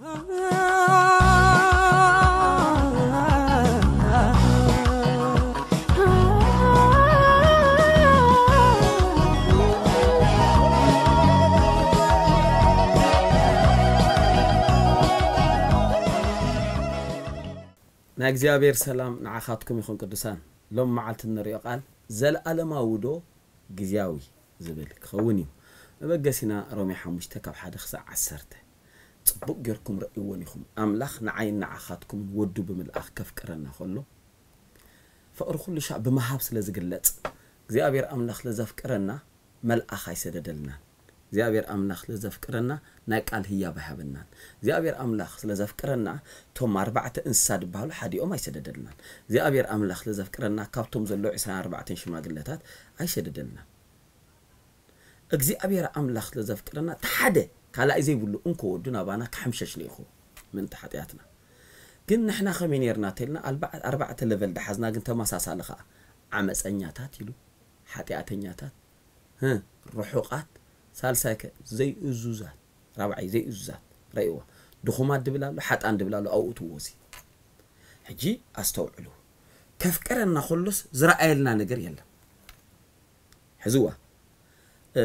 ናይ እግዚኣብሔር ሰላም ንዓኻትኩም ይኹን ቅዱሳን። ሎም መዓልቲ እንሪኦ ቃል፣ ዘለኣለማዊ ዶ ግዝያዊ ዝብል ክኸውን እዩ። መበገሲና ሮሜ ሓሙሽተ ካብ ሓደ ክሳዕ ዓሰርተ። ጽቡቕ ጌርኩም ረእይዎን ኢኹም። ኣምላኽ ንዓይን ንዓኻትኩምን ወዱ ብምልኣኽ ከፍቅረና ከሎ፣ ፍቕሪ ኩሉ ሻዕ ብምሃብ ስለ ዝግለጽ፣ እግዚኣብሔር ኣምላኽ ስለ ዘፍቅረና፣ መልኣኽ ኣይሰደደልናን። እግዚኣብሔር ኣምላኽ ስለ ዘፍቅረና፣ ናይ ቃል ህያብ ኣይሃበናን። እግዚኣብሔር ኣምላኽ ስለ ዘፍቅረና፣ እቶም ኣርባዕተ እንስሳ ዝበሃሉ ሓዲኦም ኣይሰደደልናን። እግዚኣብሔር ኣምላኽ ስለ ዘፍቅረና፣ ካብቶም ዘለዉ ዕስራን ኣርባዕተን ሽማግለታት ኣይሰደደልናን። እግዚኣብሔር ኣምላኽ ስለ ዘፍቅረና፣ እቲ ሓደ ካልኣይ ዘይብሉ እንኮ ወዱ ናባና ክሕምሸሽ ልኢኹ ምእንቲ ሓጢኣትና። ግን ንሕና ከመይ ኔርና ተልና፣ ኣልባ-፣ ኣርባዕተ ለቨል ደሓዝና፣ ግን ተመሳሳሊ ኸኣ። ዓመፀኛታት ኢሉ፣ ሓጢኣተኛታት፣ ህ፣ ርሑቓት፣ ሳልሳይ ከ ዘይእዙዛት፣ ራብዓይ ዘይእዙዛት። ረእይዋ። ድኹማት ድብል ኣሎ፣ ሓጣን ድብል ኣሎ፣ ኣብኡ ትወሲ። ሕጂ ኣስተውዕሉ። ከፍቅረና ከሎስ ዝረኣየልና ነገር የለን። ሕዝዋ። እ፣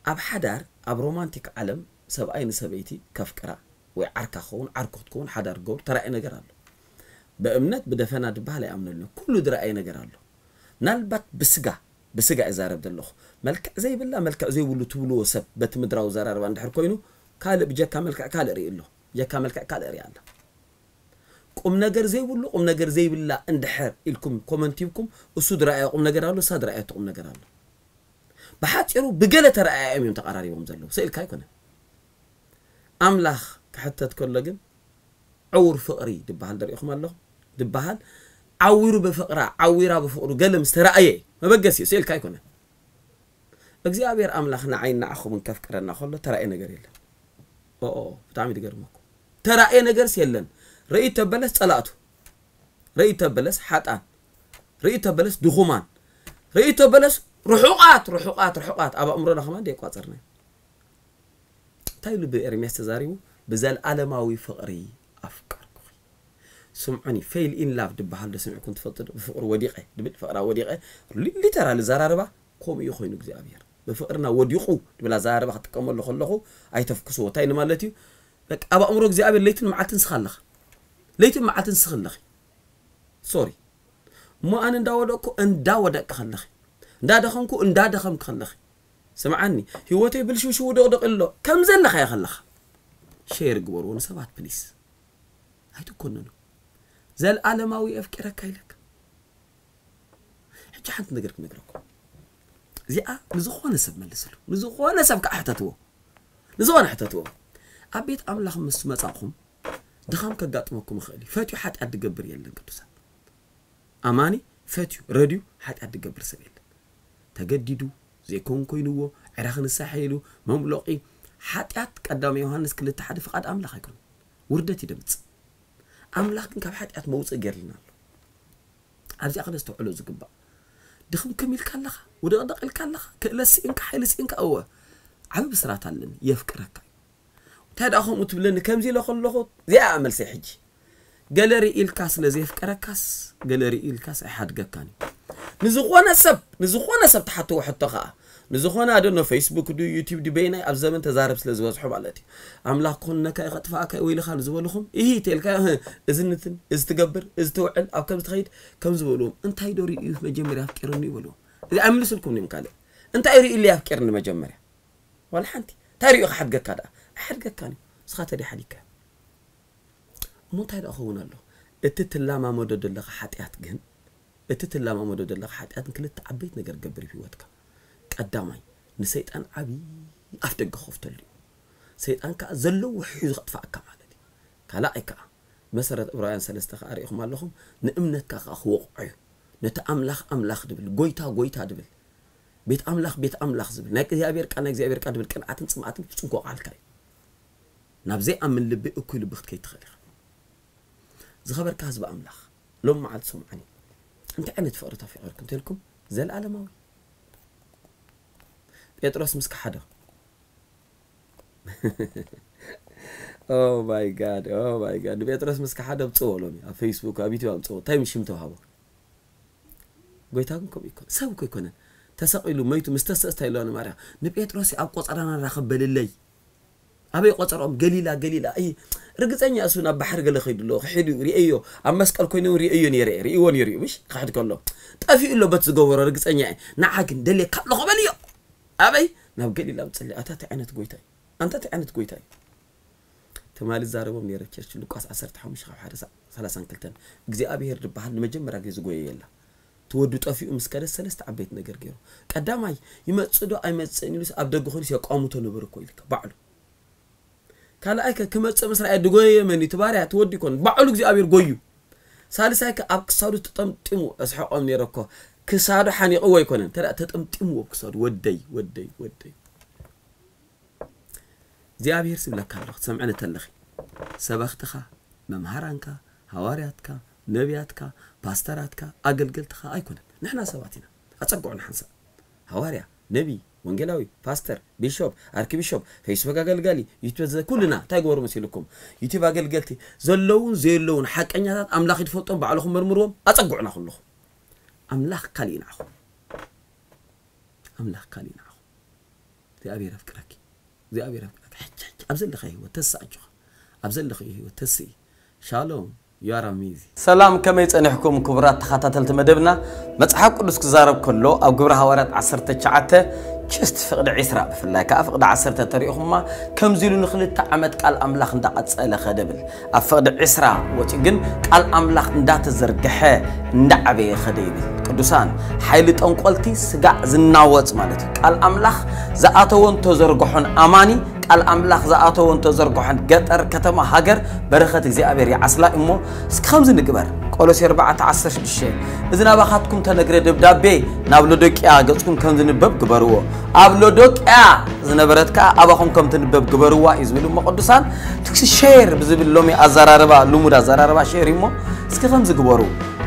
ኣብ ሓዳር፣ ኣብ ሮማንቲክ ዓለም ሰብኣይ ንሰበይቲ ከፍቅራ ወይ ዓርካ ክኸውን፣ ዓርኩ ክትከውን ሓዳር ክገብሩ ተራእየ ነገር ኣሎ። ብእምነት ብደፈና ድበሃል ኣይኣምነሉን። ኩሉ ዝረኣየ ነገር ኣሎ። ምናልባት ብስጋ፣ ብስጋ እዛረብ ዘለኹ። መልክዕ ዘይብላ፣ መልክዕ ዘይብሉ ትብልዎ ሰብ በቲ ምድራዊ ዘራርባ እንድሕር ኮይኑ፣ ካልእ ብጀካ መልክዕ ካልእ ርኢ ኣሎ። ብጀካ መልክዕ ካልእ ርኢ ኣላ። ቁም ነገር ዘይብሉ፣ ቁም ነገር ዘይብላ እንድሕር ኢልኩም ኮመንት ሂብኩም፣ እሱ ዝረኣዮ ቁም ነገር ኣሎ፣ እሳ ዝረኣየቶ ቁም ነገር ኣሎ። ብሓጺሩ ብገለ ተረኣዮም እዮም ተቐራሪቦም ዘለዉ። ስእልካ ኣይኮነን። ኣምላኽ ክሕተት ከሎ ግን ዕዉር ፍቕሪ ድበሃል ደሪእኹም ኣለኹም። ድበሃል ዓዊሩ ብፍቕራ፣ ዓዊራ ብፍቕሩ ገለ ምስ ተረኣየ እዩ። መበገሲ እዩ፣ ስእልካ ኣይኮነን። እግዚኣብሔር ኣምላኽ ንዓይን ንዓኹምን ከፍቅረና ከሎ ተራእየ ነገር የለን። ኦኦ፣ ብጣዕሚ ትገርመኩም። ተራእየ ነገርስ የለን። ርእይ ተበለስ ጸላእቱ። ርእይ ተበለስ ሓጣን። ርእይ ተበለስ ድኹማን። ርእይ ተበለስ ርሑቓት፣ ርሑቓት፣ ርሑቓት። ኣብ ኣእምሮና ከማን ደየቋጸርና። እንታይ ኢሉ ብኤርምያስ ተዛሪቡ? ብዘለኣለማዊ ፍቕሪ ኣፍቀርኩኺ። ስምዑኒ፣ ፌል ኢን ላቭ ድበሃል ዶ ሰሚዕኩም ትፈልጡ ዶ? ብፍቕሪ ወዲቐ ድብል፣ ፍቕራ ወዲቐ፣ ሊ-፣ ሊተራሊ ዘራርባ ከምኡ እዩ ኮይኑ እግዚኣብሔር። ብፍቕርና ወዲቑ ድብል ኣዘራርባ ክጥቀመሉ ከለኹ ኣይተፍክስዎ። እንታይ ንማለት እዩ? በቃ ኣብ ኣእምሮ እግዚኣብሔር ለይትን መዓልትን ንስኻ ኣለኻ። ለይትን መዓልትን ንስኺ ኣለኺ። ሶሪ። እሞ ኣነ እንዳወደቅኩ፣ እንዳወደቅኪ ከለኺ፣ እንዳደኸምኩ፣ እንዳደኸምኪ ከለኺ፣ ስምዓኒ፣ ህይወተይ ብልሽውሽው ድቕድቕ ኣሎ። ከም ዘለኻዮ ከለኻ ሼር ግበርዎ ንሰባት ፕሊስ። ኣይትኮነኑ። ዘልኣለማዊ የፍቅረካ ኢለካ። ሕጂ ሓንቲ ነገር ክነግረኩም። እዚኣ ንዝኾነ ሰብ መልስሉ። ንዝኾነ ሰብ ከዓ ሕተትዎ። ንዝኾነ ሕተትዎ። ኣብ ቤት ኣምላኽ ምስ መጻእኹም ድኻም ከጋጥመኩም ይኽእል እዩ። ፈትዩ ሓጢኣት ድገብር የለን ቅዱሳን። ኣማኒ ፈትዩ ረድዩ ሓጢኣት ድገብር ሰብ የለን። ተገዲዱ ዘይኮን ኮይንዎ ዕረ ክንሳሐ ኢሉ መምሎቒ ሓጢኣት ቀዳማይ ዮሃንስ ክልተ ሓደ ፍቓድ ኣምላኽ ኣይኮነን። ውርደት እዩ ደምጽእ። ኣምላኽ ግን ካብ ሓጢኣት መውጽኢ ገይርልና ኣሎ። ኣብዚኣ ከነስተውዕሎ ዝግባእ። ድኽምክም ኢልካ ኣለኻ፣ ውድቕድቕ ኢልካ ኣለኻ፣ ክእለት ስኢንካ፣ ሓይሊ ስኢንካ፣ እወ። ዓቢ ብስራት ኣለኒ፣ የፍቅረካ እዩ። እንታይ ደኣ ከምኡ ትብለኒ? ከምዚ ኢለ ከለኹ፣ እዚኣ እያ መልሰይ ሕጂ። ገለ ርኢ ኢልካ ስለ ዘየፍቀረካስ፣ ገለ ርኢ ኢልካስ ኣይሓድገካን እዩ። ንዝኾነ ሰብ፣ ንዝኾነ ሰብ ትሓትዎ ሕቶ ኸኣ፣ ንዝኾነ ኣደኖ ፌስቡክ ድዩ ዩቲዩብ ድዩ በይናይ ኣብ ዘመን ተዛረብ ስለ ዝበዝሑ ማለት እዩ። ኣምላኽ ክኹንነካ እዩ ከጥፍኣካ እዩ ወይልኻ ንዝበልኹም፣ እሂ ተልካ፣ እህ፣ እዚ ንትን፣ እዚ ትገብር፣ እዚ ትውዕል፣ ኣብ ከምዚ ትኸይድ፣ ከም ዝበልዎም፣ እንታይ ዶ ርእዩ መጀመርያ ኣፍቂሩኒ ይበልዎም። እዚ ኣይምልስልኩም እዮም ካልእ። እንታይ ርእዩ ኢለ ኣፍቂርኒ መጀመርያ? ዋላ ሓንቲ። እንታይ ርእዩ ክሓድገካ ደኣ? ኣይሓድገካን እዩ። ንስኻ ተዲ ሓዲግካ። እሞ እንታይ ደኣ ክኸውን ኣሎ? እቲ ትላማመዶ ዘለኻ ሓጢኣት ግን፣ እቲ ትላማመዶ ዘለኻ ሓጢኣት ግን ክልተ ዓበይቲ ነገር ክገብር እዩ ህይወትካ። ቀዳማይ፣ ንሰይጣን ዓቢ ኣፍ ደገ ክኸፍተሉ እዩ። ሰይጣን ከኣ ዘለዎ ሒዙ ከጥፍኣካ ማለት እዩ። ካልኣይ ከኣ፣ መሰረት ዕብራውያን ሰለስተ ከኣ ርኢኹም ኣለኹም፣ ንእምነትካ ከኣ ክወቕዖ እዩ። ነቲ ኣምላኽ ኣምላኽ ድብል፣ ጎይታ ጎይታ ድብል፣ ቤት ኣምላኽ ቤት ኣምላኽ ዝብል፣ ናይ እግዚኣብሔር ቃል ናይ እግዚኣብሔር ቃል ድብል ቅንዓትን ጽምኣትን ፍጹም ክወቕዓልካ እዩ። ናብ ዘይኣምን ልቢ እኩይ ልቢ ክትከይድ ትኽእል ኢኻ። ዝኸበርካ ህዝቢ ኣምላኽ፣ ሎም መዓልቲ ስምዓኒ። እንታይ ዓይነት ፍቕሪ ተፈቒርኩም ተልኩም? ዘለኣለማዊ። ጴጥሮስ ምስ ከሓዶ፣ Oh my God, oh my God። ንጴጥሮስ ምስ ከሓደ ኣምጽዎ ሎሚ ኣብ ፌስቡክ ኣብ ዩቲዩብ ኣምጽዎ። እንታይ ሽም ተዋህቦ? ጎይታ ግን ከምኡ ይኮን ሰብ እኮ ይኮነን። ተሰቒሉ መይቱ ምስ ተሰእስታ ኢለዋ ንማርያም፣ ንጴጥሮስ ኣብ ቆጸራና ራኸብ በልለይ። ኣበይ ቆጸሮም? ገሊላ፣ ገሊላ። ኣይ፣ ርግጸኛ እሱ ናብ ባሕሪ ገለ ከይዱ ኣሎ። ክሒዱ ርእዮ፣ ኣብ መስቀል ኮይኑ እውን ርእዮ ነይረ፣ ርእይዎ ነይሩ እዩ። ምሽ ክሕድ ከሎ ጠፊኡ ኣሎ በት ዝገበሮ ርግጸኛ እየ። ንዓ ግን ደልየካ ኣለኹ በልዮ። ኣበይ? ናብ ገሊላ ምጽሊ። ኣታ እንታይ ዓይነት ጎይታ እዩ? ኣንታ እንታይ ዓይነት ጎይታ እዩ? ትማሊ ዛረቦም ነይረ ቸርች ሉቃስ ዓሰርተ ሓሙሽተ ካብ ሓደ ሰላሳን ክልተን እግዚኣብሔር ዝበሃል ንመጀመርያ ግዜ ዝጎየየላ። ትወዱ ጠፊኡ ምስ ከደ ሰለስተ ዓበይቲ ነገር ገይሩ። ቀዳማይ ይመጽእ ዶ ኣይመጽእን ኢሉስ ኣብ ደገ ኮይኑስ የቋምቶ ነበር እኮ ኢልካ ባዕሉ። ካልኣይ ከ ክመጽእ ምስ ረኣየ ድጎየየ መን እዩ? እቲ ባርያ ትወዱ ይኮን ባዕሉ እግዚኣብሔር ጎዩ። ሳልሳይ ከ ኣብ ክሳዱ ተጠምጢሙ እስሐቆም ነይረ እኮ። ክሳዱ ሓኒቕዎ ኣይኮነን እንተ ተጠምጢምዎ ኣብ ክሳዱ ወደይ ወደይ ወደይ እግዚኣብሔር ስብለካ ኣሎ ክትሰምዐን እተለኺ። ሰበኽትኻ፣ መምሃራንካ፣ ሃዋርያትካ፣ ነቢያትካ፣ ፓስተራትካ፣ ኣገልገልትኻ ኣይኮነን። ንሕና ሰባት ኢና። ኣጸግዑና ሓንሳብ። ሃዋርያ፣ ነቢ፣ ወንጌላዊ፣ ፓስተር፣ ቢሾፕ፣ ኣርኪቢሾፕ፣ ፌስቡክ ኣገልጋሊ፣ ዩቲዩብ ዘ-፣ ኩልና እንታይ ግበሩ መሲልኩም? ዩቲዩብ ኣገልገልቲ ዘለውን ዘየለውን ሓቀኛታት ኣምላኽ ይትፈልጦም ባዕልኹም መርምርዎም። ኣጸግዑና ኩልኹም። ኣምላኽ ካሊእ ንዓኹም። ኣምላኽ ካሊእ ንዓኹም። እግዚኣብሔር ኣፍቅረኪ። እግዚኣብሔር ኣፍቅረኪ። ሕጂ፣ ሕጂ ኣብ ዘለኸ ህይወት ተስእ ኣጆኻ። ኣብ ዘለኸ ህይወት ተስኢ። ሻሎም። You are amazing። ሰላም፣ ከመይ ጸኒሕኩም ክቡራት ተኸታተልቲ መደብና? መጽሓፍ ቅዱስ ክዛረብ ከሎ ኣብ ግብረ ሃዋርያት ዓሰርተ ትሽዓተ ችስት ፍቕዲ ዒስራ ብፍላይ ከኣ ፍቕዲ ዓሰርተ ተሪእኹማ ከምዚ ኢሉ ንኽልተ ዓመት ቃል ኣምላኽ እንዳቐጸለ ኸደ ብል። ኣብ ፍቕዲ ዒስራ ወጺኡ ግን ቃል ኣምላኽ እንዳተዘርግሐ እንዳዓበየ ኸደ ይብል። ቅዱሳን፣ ሓይሊ ጠንቆልቲ ስጋዕ ዝናወጽ ማለት እዩ። ቃል ኣምላኽ ዝኣተወን ተዘርግሖን ኣማኒ፣ ቃል ኣምላኽ ዝኣተወን ተዘርግሖን ገጠር፣ ከተማ፣ ሃገር በረኸት እግዚኣብሔር ይዓስላ እሞ እስኪ ከምዚ ንግበር። ቆሎሴ ኣርባዕተ ዓሰርተ ሽዱሽተ፣ እዚ ናባኻትኩም ተነግረ ደብዳቤ ናብ ሎዶቅያ ገጽኩም ከም ዝንበብ ግበርዎ። ኣብ ሎዶቅያ ዝነበረት ከኣ ኣባኹም ከም ትንበብ ግበርዋ እዩ ዝብል እሞ ቅዱሳን፣ ትክሲ ሼር ብዝብል ሎሚ ኣዘራርባ፣ ልሙድ ኣዘራርባ ሼር እዩ እሞ እስኪ ከምዚ ግበሩ።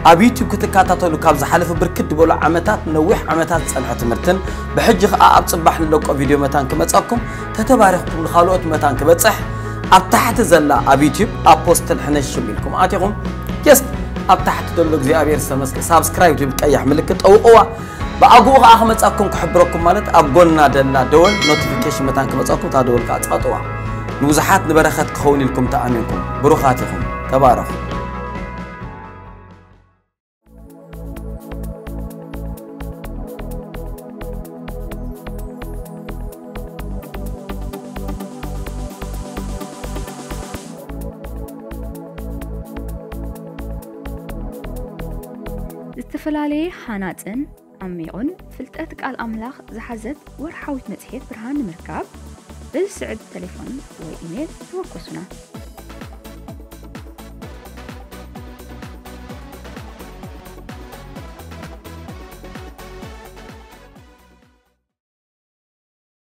ኣብ ዩቲዩብ ክትከታተሉ ካብ ዝሓለፈ ብርክት ዝበሉ ዓመታት፣ ነዊሕ ዓመታት ዝጸንሐ ትምህርትን ብሕጂ ከኣ ኣብ ጽባሕ ንለቆ ቪድዮ መታን ክመጻኩም፣ ተተባሪኽኩም ንኻልኦት መታን ክበጽሕ ኣብ ታሕቲ ዘላ ኣብ ዩቲዩብ ኣፖስትል ሕነሽም ኢልኩም ኣቲኹም ጀስት ኣብ ታሕቲ ዘሎ እግዚኣብሔር ዝተመስገ ሳብስክራይብ ትብል ቀያሕ ምልክት ጠውቕዋ። ብኣግኡ ከኣ ክመጻኩም ክሕብረኩም ማለት ኣብ ጎና ደላ ደወል ኖቲፊኬሽን መታን ክመጻኩም እታ ደወል ከኣ ጻጥዋ። ንብዙሓት ንበረኸት ክኸውን ኢልኩም ተኣሚንኩም ብሩኻት ኢኹም። ተባረኹ። ዝተፈላለየ ሃናጽን ዓሚቑን ፍልጠት ቃል ኣምላኽ ዝሓዘት ወርሓዊት መጽሔት ብርሃን ንምርካብ በዚ ስዕብ ተሌፎን ወይ ኢሜል ተወከሱና።